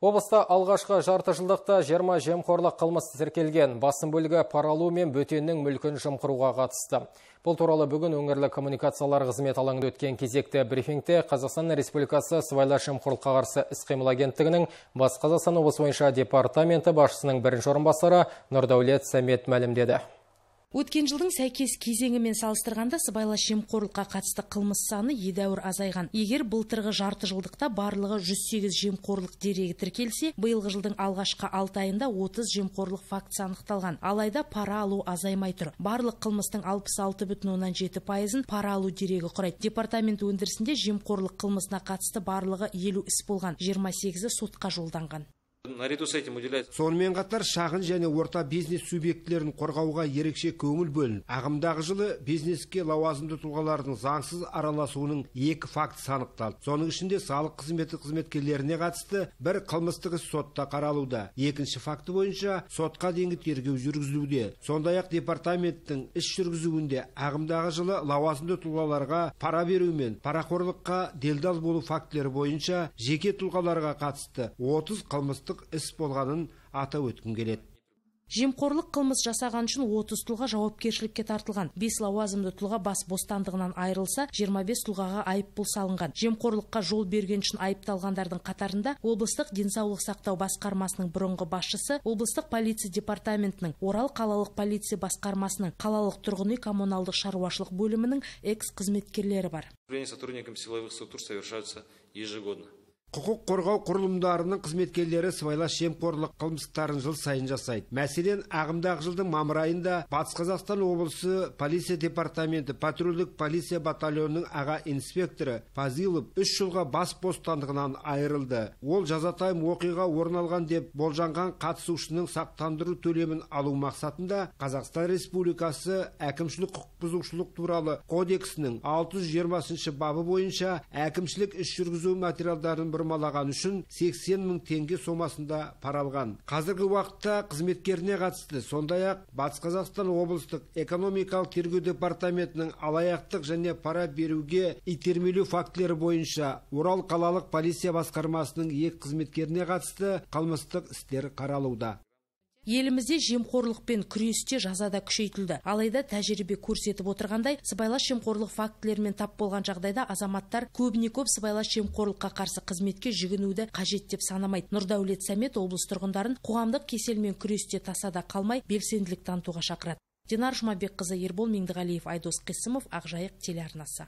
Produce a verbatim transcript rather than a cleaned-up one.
Облыста алғашқы жарты жылдықта жиырма жемқорлық қылмыс тіркелген. Басым бөлігі пара алу мен бөтеннің мүлкін жымқыруға қатысты. Бұл туралы бүгін өңірлік коммуникациялар қызмет алаңында өткен кезекті брифингте Қазақстан Республикасы сыбайлас жемқорлыққа қарсы іс-қимыл агенттігінің Батыс Қазақстан облысы бойынша департаменті басшысының бірінші орынбасары Нұрдәулет Сәмет мәлімдеді. Өткен жылдың сәйкес кезеңімен салыстырғанда сыбайлас жемқорлыққа қатысты қылмыс саны едәуір азайған. Егер былтырғы жарты жылдықта барлығы жүз сегіз жемқорлық дерегі тіркелсе, биылғы жылдың алғашқы алты айында отыз жемқорлық фактісі анықталған. Алайда пара алу азаймай тұр. Барлық қылмыстың алпыс алты бүтін оннан жеті пайызын пара алу дерегі құрайды. Департамент өндірісінде жемқорлық қылмысына қатысты барлығы елу іс болған, жиырма сегізі сотқа жолданған. Сонымен қатар шағын және орта бизнес субъектілерін қорғауға ерекше көңіл бөлініп, ағымдағы жылы бизнеске лауазымды тұлғалардың заңсыз араласуының екі фактісі анықталды. Соның ішінде салық қызметі қызметкерлеріне қатысты бір қылмыстық іс сотта қаралуда. Екінші факті бойынша сотқа дейінгі тергеу жүргізілуде. Сондай-ақ департаменттің іс жүргізуінде ағымдағы жылы лауазымды тұлғаларға пара беру мен парақорлыққа делдал болу фактілері бойынша жеке тұлғаларға қатысты отыз қылмыстық іс болғанын атап өткім келеді. Жемқорлық қылмыс жасаған үшін отыз тұлға жауапкершілікке тартылған. бес лауазымды тұлға бас бостандығынан айырылса, жиырма бес тұлғаға айыппұл салынған. Жемқорлыққа жол берген үшін айыпталғандардың қатарында облыстық денсаулық сақтау басқармасының бұрынғы басшысы, облыстық полиция департаментінің, Орал қалалық полиция басқармасының, қалалық тұрғын үй коммуналдық шаруашылық бөлімінің экс-қызметкерлері бар. Сотрудникам силовых структур совершаются ежегодно. Құқық қорғау құрылымдарының қызметкерлері сыбайлас жемқорлық қылмыстарын жыл сайын жасайды. Мәселен, ағымдағы жылдың мамыр айында Батыс Қазақстан облысы полиция департаменті патрульдік полиция батальонының аға инспекторы Фазилов үш жылға бас бостандығынан айырылды. Ол жазатайым оқиға орын алған деп болжанған қатысушының сақтандыру төлемін алу мақсатында Қазақстан Республикасы әкімшілік құқық бұзушылық туралы кодексінің алты жүз жиырмасыншы бабы бойынша әкімшілік іс жүргізу материалдарын бұрмалаған үшін сексен мың теңге сомасында пара алған. Қазіргі уақытта қызметкеріне қатысты, сондай-ақ Батыс Қазақстан облыстық экономикалық тергеу департаментінің алаяқтық және пара беруге итермелеу фактілері бойынша Орал қалалық полиция басқармасының екі қызметкеріне қатысты қылмыстық істер қаралуда. Елімізде жемқорлықпен күресте жазада күшейтілді. Алайда тәжірибе көрсетіп отырғандай, сыбайлас жемқорлық фактілерімен тап болған жағдайда азаматтар көбіне көп сыбайлас жемқорлыққа қарсы қызметке жүгінуді қажет деп санамайды. Нұрдәулет Сәмет облыс тұрғындарын қоғамдық кеселмен күресте тасада қалмай белсенділік танытуға шақырады. Динар Жұмабекқызы, Ербол Меңдіғалиев, Айдос Қисымов, Ақжайық телеарнасы.